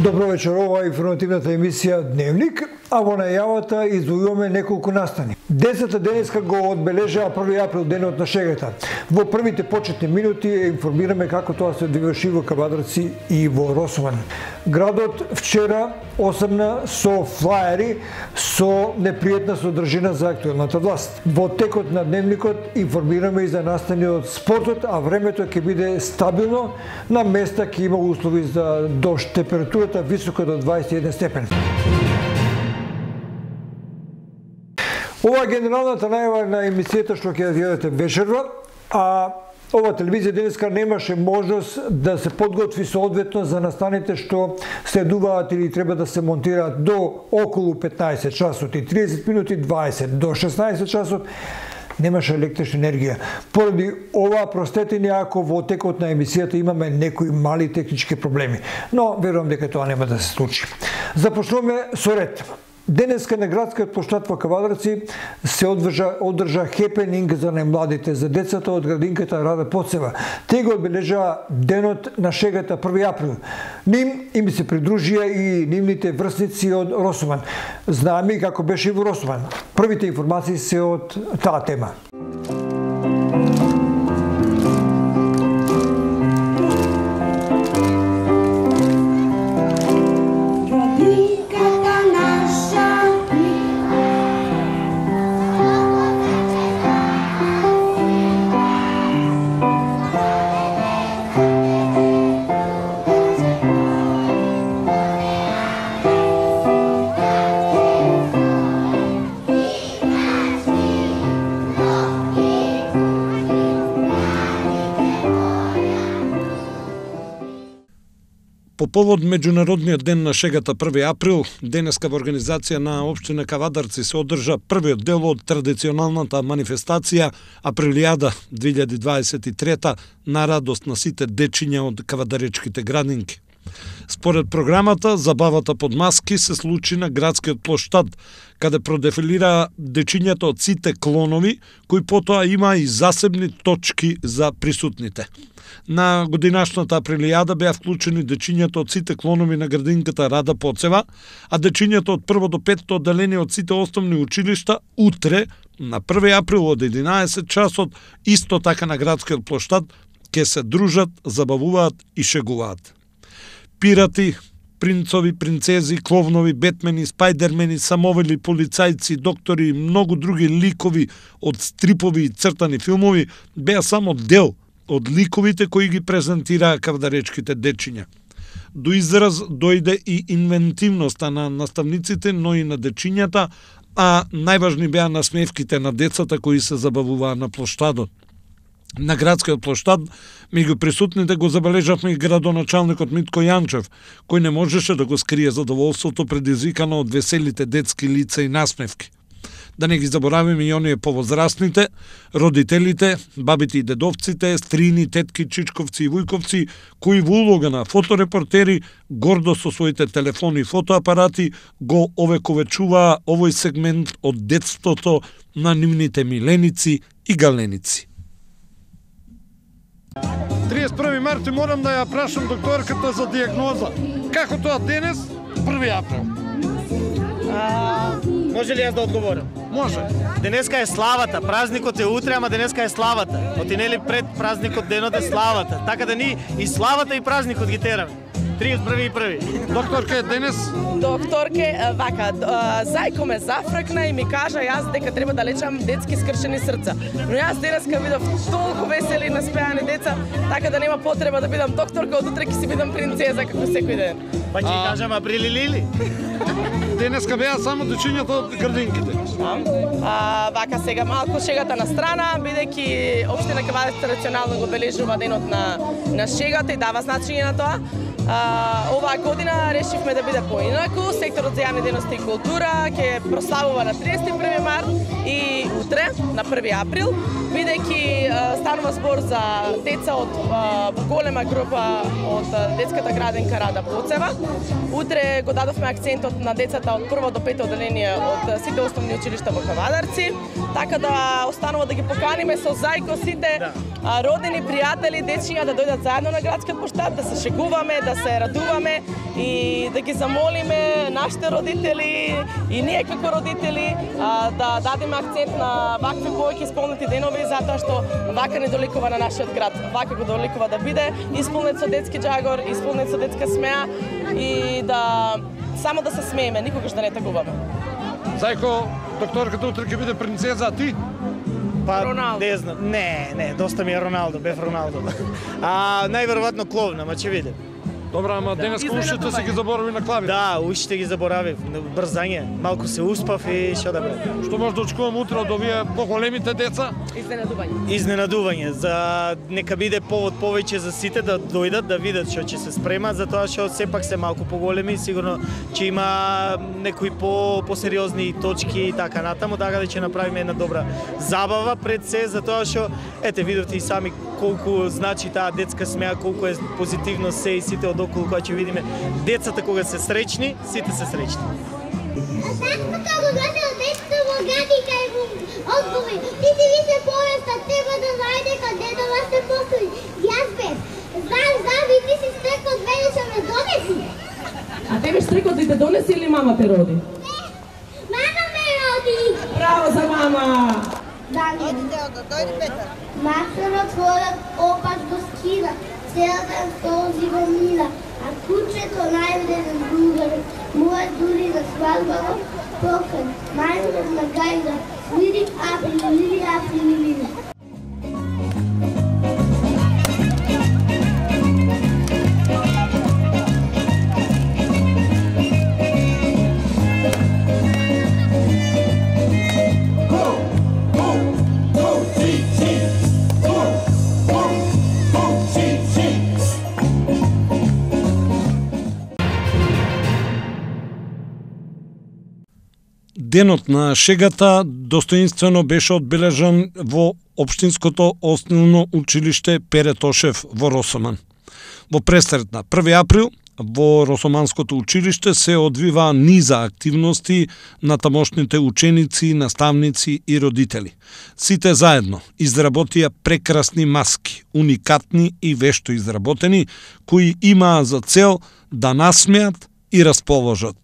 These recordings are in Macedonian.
Добро вечер, ова е информативната емисија Дневник, а во најавата издвојуваме неколку настани. Децата денеска го одбележаа 1 април, денот на шегата. Во првите почетни минути информираме како тоа се одвиваше во Кавадарци и во Росован. Градот вчера осамна со флаери со непријатна содржина за актуелната власт. Во текот на Дневникот информираме и за настани од спортот, а времето ќе биде стабилно, на места ќе има услови за дожд, температурата висока до 21 степен. Ова е генералната најава на емисијата што ќе ја гледате вечерва, а ова телевизија денеска немаше можност да се подготви соодветно за настаните што следуваат или треба да се монтираат до околу 15 часот и 30 минути, 20 до 16 часот. Немаше електрична енергија. Поради ова, простете ни ако во текот на емисијата имаме некои мали технички проблеми, но верувам дека тоа нема да се случи. Започнуваме со ред. Денеска на градскиот плоштад во Кавадарци се одржа хепенинг за најмладите, за децата од градинката Рада Поцева. Те го одбележаа денот на шегата 1 април. Ним им се придружија и нивните врсници од Росован. Знаеме како беше и во Росован. Првите информации се од таа тема. По повод Меѓународниот ден на шегата 1 април, денеска во организација на општина Кавадарци се одржа првиот дел од традиционалната манифестација Априлијада 2023 на радост на сите дечиња од кавадаречките градинки. Според програмата, забавата под маски се случи на градскиот плоштад, каде продефилираа дечињата од сите клонови, кои потоа има и засебни точки за присутните. На годинашната Априлијада беа вклучени дечињата од сите клонови на градинката Рада Поцева, а дечињата од 1 до 5 одделени од сите основни училишта утре, на 1 април од 11 часот, исто така на градскиот плоштад, ќе се дружат, забавуваат и шегуваат. Пирати, принцови, принцези, кловнови, бетмени, спајдермени, самовели, полицајци, доктори и многу други ликови од стрипови и цртани филмови беа само дел од ликовите кои ги презентираа кавадаречките дечиња. До израз дојде и инвентивноста на наставниците, но и на дечињата, а најважни беа насмевките на децата кои се забавуваа на плоштадот. На градскиот плоштад, меѓу присутните го забележавме и градоначалникот Митко Јанчев, кој не можеше да го скрие задоволството предизвикано од веселите детски лица и насмевки. Да не ги заборавиме и оние повозрастните, родителите, бабите и дедовците, стрини, тетки, чичковци и вујковци, кои во улога на фоторепортери, гордо со своите телефони и фотоапарати, го овековечуваа овој сегмент од детството на нивните миленици и галеници. 31 март морам да ја прашам докторката за диагноза. Како тоа денес, 1 април? Може ли јас да одговорам? Може. Денеска е славата, празникот е утре, ама денеска е славата. Отинели пред празникот денот е славата. Така да ни и славата и празникот ги тераме. 31. Докторка е денес? Докторке, вака, зајко ме зафркна и ми кажа јас дека треба да лечам детски скршени срца. Но јас денеска видов толку весели и наспеани деца, така да нема потреба да бидам докторка, од утре ќе си бидам принцеза како секој ден. Па ќе кажам априли лили. Денеска беа само дечињата од градинките. Вака сега малку шегата на страна, бидејќи општина Кавадарци традиционално го обележува денот на шегата и дава значење на тоа. Оваа година решивме да биде поинаку. Секторот за јавни дејности и култура ќе прославува на 31 март И утре, на 1 април, бидејќи станува збор за деца од голема група од детската градинка Рада Боцева. Утре го дадовме акцентот на децата од 1 до 5 одделение од сите основни училишта во Кавадарци, така да останува да ги поканиме со зајко сите родени, пријатели, дечиња да дојдат заедно на градскиот площад, да се шегуваме, да се радуваме и да ги замолиме нашите родители и ние како родители да дадеме акцент на вакви повеќе исполнети денови, затоа што вака не доликува на нашиот град. Вака го доликува да биде исполнет со детски џагор, исполнет со детска смеа и да само да се смееме, никогаш да не тагуваме. Зајко, докторката утре ќе биде принцеза, а ти? Па, Роналдо. не знам. Не, доста ми е Роналдо, бев Роналдо. Најверојатно кловна, ама ќе видим. Добра, ама денеска ушите се ги заборави на клавите. Да, ушите ги заборавив, брзање. Малку се успав и што да бре. Што може да очекувам утре од овие поголемите деца? Изненадување. Изненадување, за нека биде повод повеќе за сите да дојдат да видат што ќе се спрема, затоа што сепак се малку поголеми, сигурно ќе има некои посериозни точки и така натаму, така да ќе направиме една добра забава пред се, затоа што ете видовте и сами колку значи таа детска смеа, колку е позитивно се и сите одоколу кога ќе видиме децата кога се среќни, сите се среќни. Саката го гледа децата во градинка и во одговори. Ти си више повеста, треба да знае дека дедова се постои. Јас бев. Знам, и ти си стрекот мене што ме донеси. А тебе стрекот да те донеси или мама те роди? Мама ме роди. Браво за мама! Дојди Петар. Максарот ходат опаш го скина. Цел ден този го мина. А кучето највреден другар. Моја дури на свадбава покан. Највреден на гајда. Лили априли, лили априли, лили. Денот на шегата достоинствено беше одбележан во Општинското основно училиште Пере Тошев во Росоман. Во пресрет на 1 април во Росоманското училиште се одвива низа активности на тамошните ученици, наставници и родители. Сите заедно изработија прекрасни маски, уникатни и вешто изработени, кои имаа за цел да насмеат и расположат.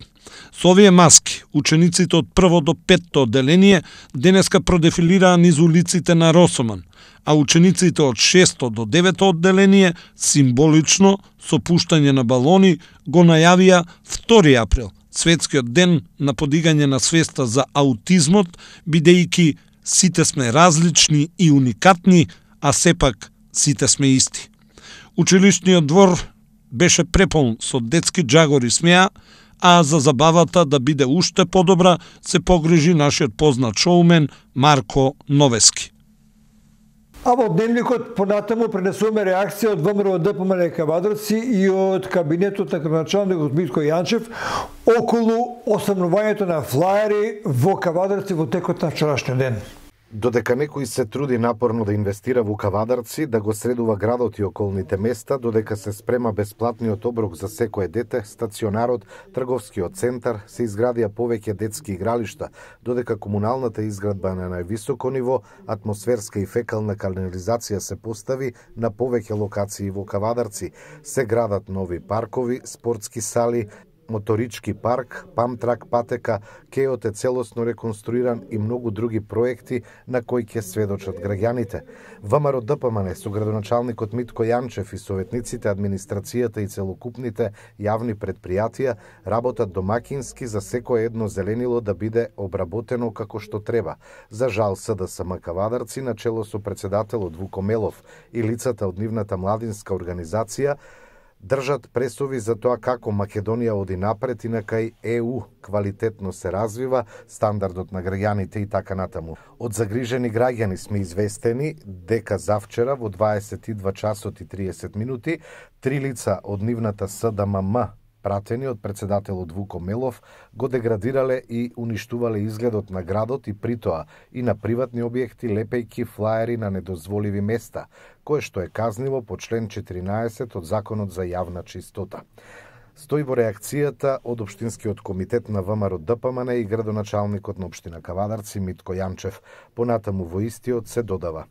Со овие маски, учениците од 1 до 5 одделение денеска продефилираа низ улиците на Росоман, а учениците од 6 до 9 одделение символично со пуштање на балони го најавија 2 април, светскиот ден на подигање на свеста за аутизмот, бидејќи сите сме различни и уникатни, а сепак сите сме исти. Училишниот двор беше преполн со детски џагор и смеа, а за забавата да биде уште подобра се погрижи нашиот познат шоумен Марко Новески. А во дневникот понатаму пренесуваме реакција од ВМРО ДПМН Кавадарци и од кабинетот на градоначалникот Митко Јанчев околу оsamнувањето на флаери во Кавадарци во текот на вчерашниот ден. Додека некој се труди напорно да инвестира во Кавадарци, да го средува градот и околните места, додека се спрема бесплатниот оброк за секое дете, стационарот, трговскиот центар, се изградија повеќе детски игралишта, додека комуналната изградба на највисоко ниво, атмосферска и фекална канализација се постави на повеќе локации во Кавадарци, се градат нови паркови, спортски сали, моторички парк, памтрак патека, кеот е целосно реконструиран и многу други проекти на кои ќе сведочат граѓаните. ВМРО ДПМН со градоначалникот Митко Јанчев и советниците, администрацијата и целокупните јавни предпријатија работат домакински за секое едно зеленило да биде обработено како што треба. За жал СДСМ Кавадарци на чело со председателот Вуко Мелов и лицата од нивната младинска организација држат пресови за тоа како Македонија оди напред и на кај ЕУ квалитетно се развива, стандардот на граѓаните и така натаму. Од загрижени граѓани сме известени дека завчера во 22 часот и 30 минути 3 лица од нивната СДММ пратени од председателот Вуко Мелов, го деградирале и уништувале изгледот на градот и притоа и на приватни објекти лепејки флаери на недозволиви места, кое што е казниво по член 14 од Законот за јавна чистота. Стои во реакцијата од Општинскиот комитет на ВМРО ДПМН и градоначалникот на општина Кавадарци Митко Јанчев. Понатаму во истиот се додава: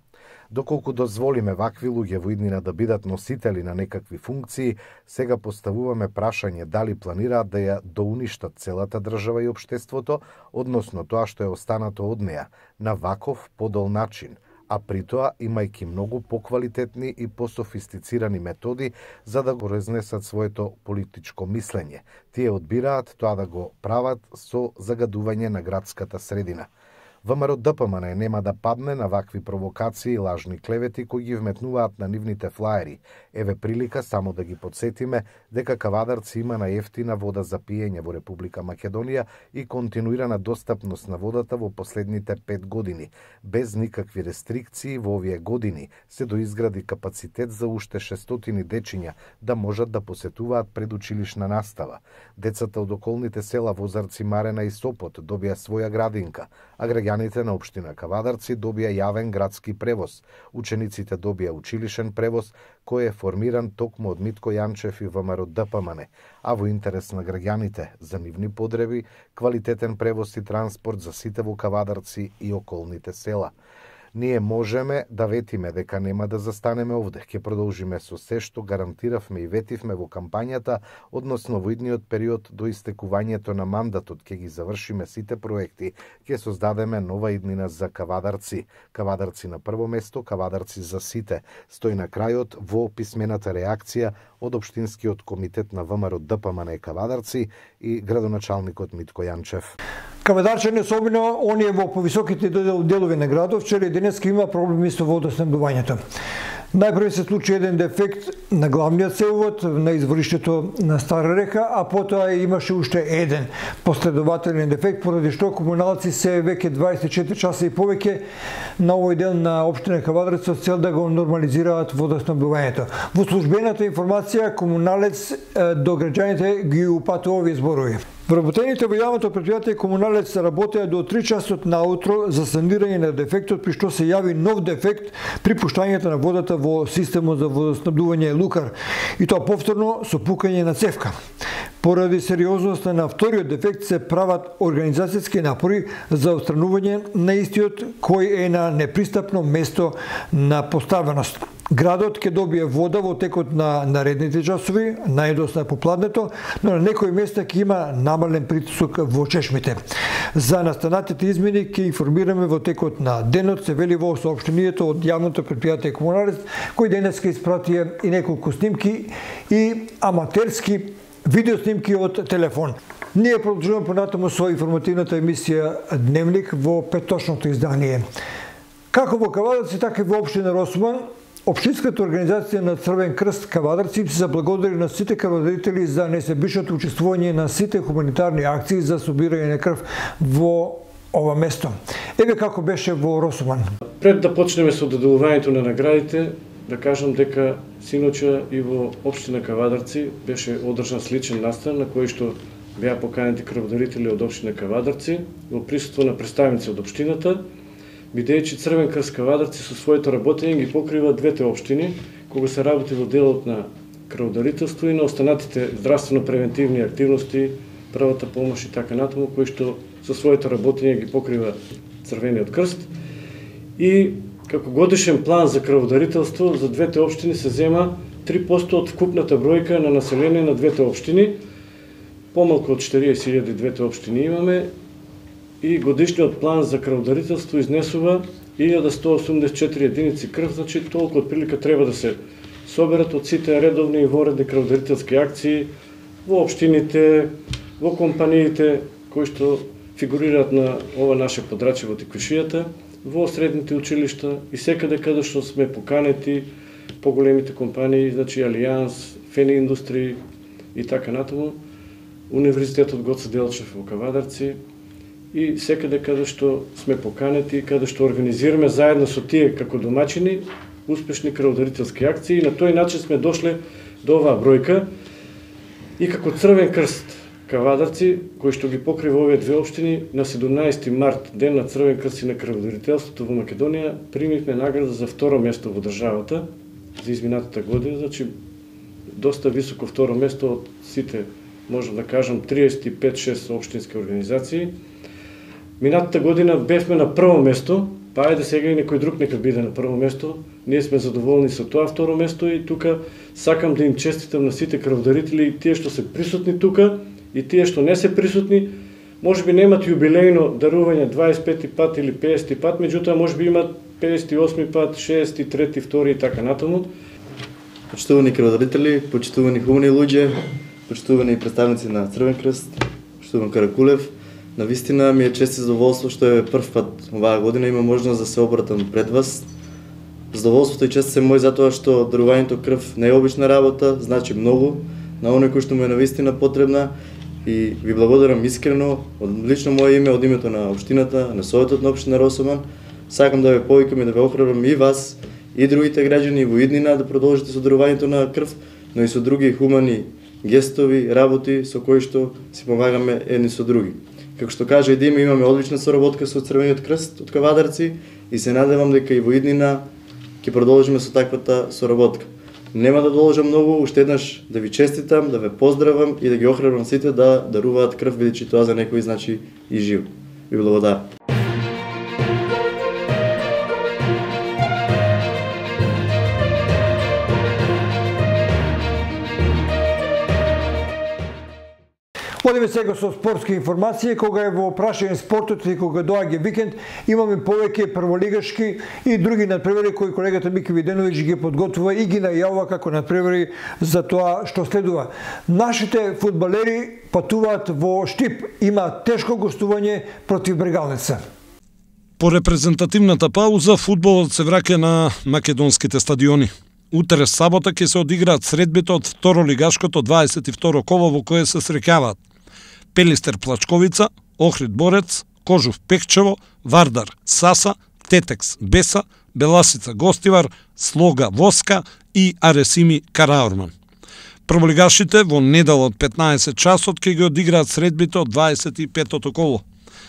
доколку дозволиме вакви луѓе во иднина да бидат носители на некакви функции, сега поставуваме прашање дали планираат да ја доуништат целата држава и општеството, односно тоа што е останато од неа, на ваков подол начин, а при тоа имајќи многу поквалитетни и пософистицирани методи за да го разнесат своето политичко мислење. Тие одбираат тоа да го прават со загадување на градската средина. ВМРО ДПМН нема да падне на вакви провокации и лажни клевети кои ги вметнуваат на нивните флаери. Еве прилика само да ги подсетиме дека Кавадарци има најефтина вода за пиење во Република Македонија и континуирана достапност на водата во последните 5 години. Без никакви рестрикции во овие години се доизгради капацитет за уште 600 дечиња да можат да посетуваат предучилишна настава. Децата од околните села Возарци, Марена и Сопот добија своја градинка, а граѓаните на општина Кавадарци добија јавен градски превоз. Учениците добија училишен превоз кој е формиран токму од Митко Јанчев и ВМРО ДПМН, а во интерес на граѓаните за нивни подреби, квалитетен превоз и транспорт за сите во Кавадарци и околните села. Ние можеме да ветиме дека нема да застанеме овде, ќе продолжиме со се што гарантиравме и ветивме во кампањата, односно во идниот период до истекувањето на мандатот ќе ги завршиме сите проекти, ќе создадеме нова иднина за Кавадарци. Кавадарци на прво место, Кавадарци за сите, стои на крајот во писмената реакција од Општинскиот комитет на ВМРО ДПМН Кавадарци и градоначалникот Митко Јанчев. Кавадарчани, особено оние во повисоките делови на градот, вчера и денеска има проблеми со водоснабдувањето. Најпрво се случи еден дефект на главниот цевовод на извориштето на Стара река, а потоа имаше уште еден последователен дефект, поради што комуналци се веќе 24 часа и повеќе на овој дел на општина Кавадарци со цел да го нормализираат водоснабдувањето. Во службената информација комуналец до граѓаните ги упатува овие зборови. Вработените во јавното предпријатие комуналец работеа до 3 часот наутро за санирање на дефектот, при што се јави нов дефект при пуштањето на водата во системот за водоснабдување Лукар, и тоа повторно со пукање на цевка. Поради сериозноста на вториот дефект се прават организацијски напори за отстранување на истиот, кој е на непристапно место на поставеност. Градот ќе добие вода во текот на наредните часови, најдосна попладнето, но на некои места ќе има намален притисок во чешмите. За настанатите измени ќе информираме во текот на денот, се вели во соопштението од јавното предпријатие Комуналец, кој денес ќе испратија и неколку снимки и аматерски видеоснимки од телефон. Ние продолжуваме понатаму со информативната емисија Дневник во петочното издание. Како во Кавадарци, така и во општина Росман, Општинската организација на Црвен крст Кавадарци се заблагодари на сите крводарители за несебичното учествување на сите хуманитарни акции за собирање на крв во ова место. Еве како беше во Росман. Пред да почнеме со доделувањето на наградите, да кажам дека синоча и во општина Кавадарци беше одржан сличен настан на кој што беа поканети крводарители од општина Кавадарци во присуство на представници од општината, бидејќи Црвен крст Кавадарци со своето работење ги покрива двете општини, кога се работи во делот на крводарителство и на останатите здравствено-превентивни активности, првата помош и така натаму, кои што со своето работење ги покрива Црвениот крст. И како годишен план за крводарителство за двете општини се зема 3% од вкупната бројка на население на двете општини. Помалку од 40.000 двете општини имаме, и годишниот план за крводарителство изнесува 1184 единици крв, значи толку отприлика треба да се соберат од сите редовни и воредни крводарителски акции во општините, во компаниите кои што фигурираат на ова наше подрачје во Тиквишијата, во средните училишта и секаде каде што сме поканети поголемите компании, значи Алијанс, Фени Индустрии и така натаму, Универзитетот Гоце Делчев во Кавадарци, и секаде каде што сме поканети, каде што организираме заедно со тие како домачини успешни крводарителски акции, и на тој начин сме дошле до оваа бројка. и како Црвен крст Кавадарци, кој што ги покрива овие две општини, на 17 март, ден на Црвен крст и на крводарителството во Македонија, примивме награда за второ место во државата за изминатата година, значи доста високо второ место од сите, можам да кажам, 35-6 општински организации. Минатата година бевме на прво место, па ајде сега и некој друг нека биде на прво место. Ние сме задоволни со тоа второ место и тука сакам да им честитам на сите крводарители и тие што се присутни тука и тие што не се присутни. Можеби немат јубилејно дарување 25 пат или 50 пат, меѓутоа можеби имат 58 пат, 63, 2 и така натаму. Почитувани крводарители, почитувани хумани луѓе, почитувани представници на Црвен крст, почитуван Каракулев, навистина ми е чест и задоволство што е прв пат оваа година има можност да се обратам пред вас. Задоволството и чест се мој затоа што дарувањето крв не е обична работа, значи многу на оној кој што му е навистина потребна и ви благодарам искрено од лично моје име, од името на општината, на Советот на општина Росоман. Сакам да ве повикам и да ве охрабрам и вас и другите граѓани во иднина да продолжите со дарувањето на крв, но и со други хумани гестови, работи со кои што си помагаме едни со други. Како што кажа и Дима, имаме одлична соработка со Црвениот крст од Кавадарци и се надевам дека и во иднина ќе продолжиме со таквата соработка. Нема да должам многу, уште еднаш да ви честитам, да ве поздравам и да ги охрабрам сите да даруваат крв, бидејќи тоа за некој значи и жив. Ви благодарам. Одиме сега со спортски информации. Кога е во прашање спортот и кога доаѓа викенд, имаме повеќе прволигашки и други надпревари кои колегата Мики Виденовиќ ги подготвува и ги најавува како надпревари за тоа што следува. Нашите фудбалери патуваат во Штип. Има тешко гостување против Брегалница. По репрезентативната пауза, фудбалот се враќа на македонските стадиони. Утре сабота ќе се одиграат средбите од второлигашкото 22 коло во кое се среќаваат Пелистер Плачковица, Охрид Борец, Кожув Пекчево, Вардар Саса, Тетекс Беса, Беласица Гостивар, Слога Воска и Аресими Караорман. Прволигашите во недела од 15 часот ќе ги одиграат средбите од 25-тото коло.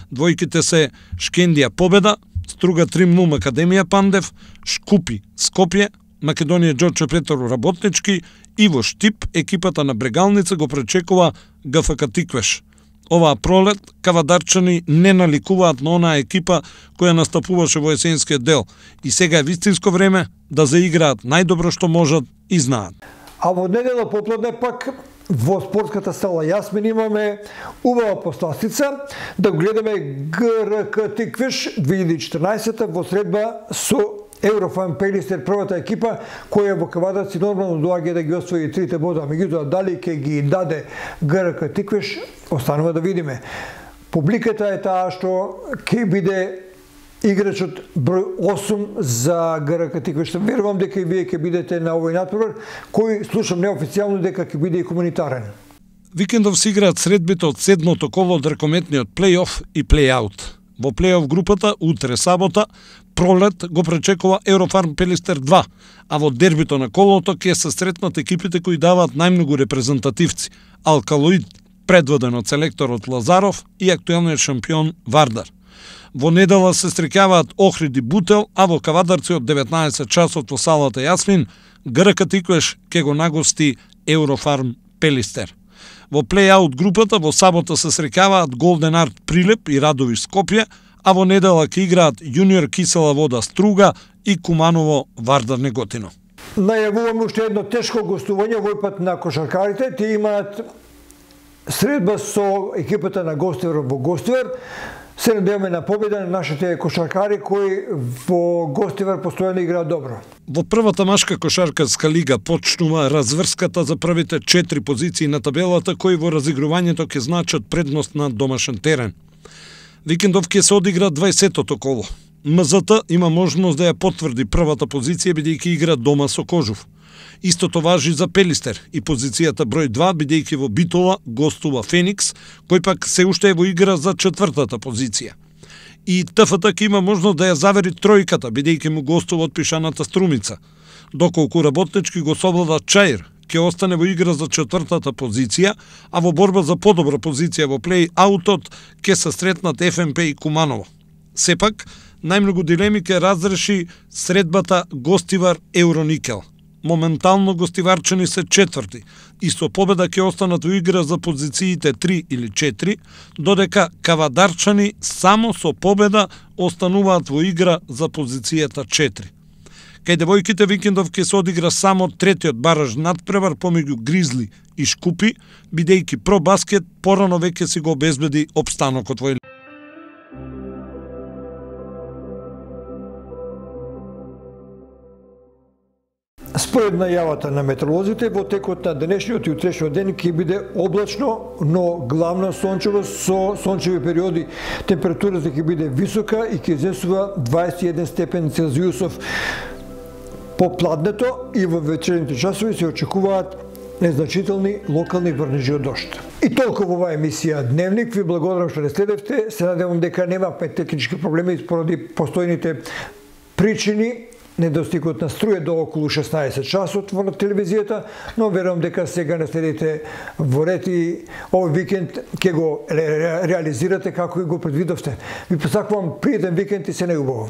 Двојките се Шкендија Победа, Струга 3-0 Академија Пандев, Шкупи Скопје, Македонија Џорче Петров Работнички и во Штип екипата на Брегалница го пречекува ГФК Тиквеш. Оваа пролет кавадарчани не наликуваат на онаа екипа која настапуваше во есенскиот дел и сега е вистинско време да заиграат најдобро што можат и знаат. А во недела попладне пак во спортската сала Јасмин имаме убава посластица да гледаме ГРК Тиквеш 2014 во средба со Еврофан Пелистер, првата екипа која во Кавадарци нормално доаѓа да ги освои трите бода, меѓутоа дали ќе ги даде ГРК Тиквеш, останува да видиме. Публиката е таа што ќе биде играчот број 8 за ГРК Тиквеш. Верувам дека и вие ќе бидете на овој натпревар, кој слушам неофицијално дека ќе биде и комунитарен. Викендов се играат средбите од седмото коло од ракометниот плей-оф и плей-аут. Во плей-оф групата, утре сабота, пролет го пречекува Еврофарм Пелистер 2, а во дербито на колото ќе се сретнат екипите кои даваат најмногу репрезентативци. Алкалоид, предводен од селекторот Лазаров и актуелниот шампион Вардар. Во недела се среќаваат Охрид и Бутел, а во Кавадарци од 19 часот во салата Јасмин, ГРК Тиквеш ќе го нагости Еврофарм Пелистер. Во плей-аут групата во сабота се среќаваат Голден Арт Прилеп и Радовиш Скопје, а во недела ќе играат Јуниор Кисела Вода Струга и Куманово Вардар Неготино. Најавуваме уште едно тешко гостување, овој пат на кошаркарите. Тие имаат средба со екипата на Гостивар во Гостивар. Се надеваме на победа на нашите кошаркари кои во Гостивар постојано играат добро. Во првата машка кошаркарска лига почнува разврската за првите 4 позиции на табелата кои во разигрувањето ќе значат предност на домашен терен. Викендов ќе се одигра 20-тото коло. МЗТ има можност да ја потврди првата позиција бидејќи игра дома со Кожув. Истото важи за Пелистер и позицијата број 2 бидејќи во Битола гостува Феникс, кој пак се уште е во игра за 4-та позиција. И ТФТ ќе има можност да ја завери тројката бидејќи му гостува од пишаната Струмица, доколку Работнички го совлада Чаир ќе остане во игра за 4-та позиција, а во борба за подобра позиција во плей-аутот ќе се сретнат ФНП и Куманово. Сепак, најмногу дилеми ќе разреши средбата гостивар Евроникел. Моментално гостиварчани се 4-ти и со победа ќе останат во игра за позициите 3 или 4, додека кавадарчани само со победа остануваат во игра за позицијата 4. Кај девојките викендов ќе се одигра само третиот бараж надпревар помеѓу Гризли и Шкупи, бидејќи Пробаскет порано веќе си го обезбеди опстанокот во Според најавата на метеоролозите, во текот на денешниот и утрешниот ден ќе биде облачно, но главно сончево со сончеви периоди. Температурата ќе биде висока и ќе изесува 21 степен Целзиусов. По пладнето и во вечерните часови се очекуваат незначителни локални врнежи од дожд. И толку во оваа емисија Дневник. Ви благодарам што не следевте. Се надевам дека нема технички проблеми поради постојните причини. Недостигот на струја до околу 16 часот во телевизијата, но верувам дека сега не следите во ред и овој викенд ќе го реализирате како и го предвидовте. Ви посакувам пријатен викенд и се најубаво.